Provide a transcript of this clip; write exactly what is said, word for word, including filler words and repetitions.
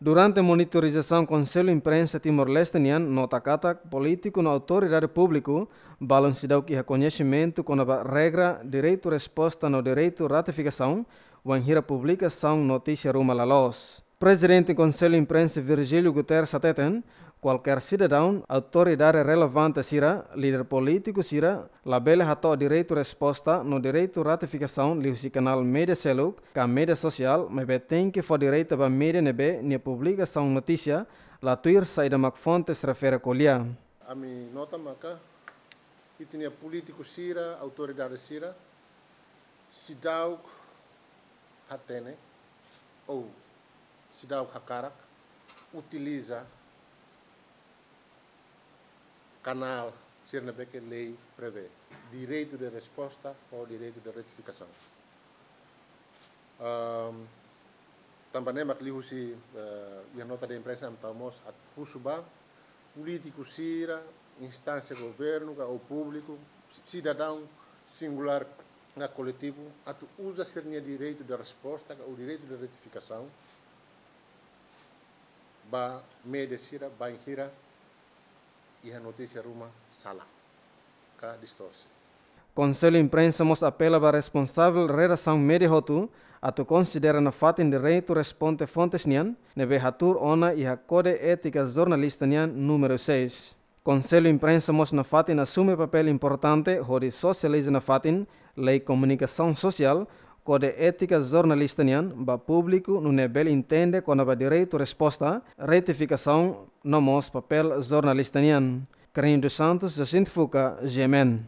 Durante monitorizasaun, Konsellu Imprensa Timor-Leste nian nota katak polítiku no autoridade públiku balun seidauk iha koñesimentu kona-ba regra direitu resposta no direitu ratifikasaun wainhira publikasaun notísia ruma la loos. Prezidente Konsellu Imprensa Virgílio Guterres hateten, kualkér sidadaun, autoridade relevante sira, líder polítiku sira, labele hato'o direitu resposta no direitu ratifikasaun liuhusi kanál média seluk ka média sosiál, maibé tenke fó direta ba média ne'ebé nia publikasaun notísia la tuir saida mak fontes refere ko'alia. Ami nota maka ita-nia polítiku sira, autoridade sira, seidauk hatene ou seidauk hakarak utiliza kanál sira ne'ebé ke lei prevee, direitu de resposta ou direitu de ratifikasaun. Ahm, tanba ne'e mak liuhusi, eh, iha nota de imprensa ami tau mós atu husu ba polítiku sira, instánsia governu ka ou públiku, sidadaun singulár ka koletivu, atu uza sira-nia direitu de resposta ka ou direitu de ratifikasaun ba média sira bainhira iha notísia ruma sala ka distorse. Konsellu Imprensa mós apela ba responsavel redasaun média hotu atu konsidera nafatin direitu responde fontes nian, ne'ebé hatuur ona iha Kode Étika Jornalista nian númeru seis. Konsellu Imprensa mós nafatin asume papél importante hodi sosializa nafatin lei komunikasaun sosiál, Kode Étika Jornalista nian ba públiku nune'e bele entende kona-ba direitu resposta, ratifikasaun no mós papél jornalista nian. Carlinho dos Santos, Jacinto Fuca, G M N.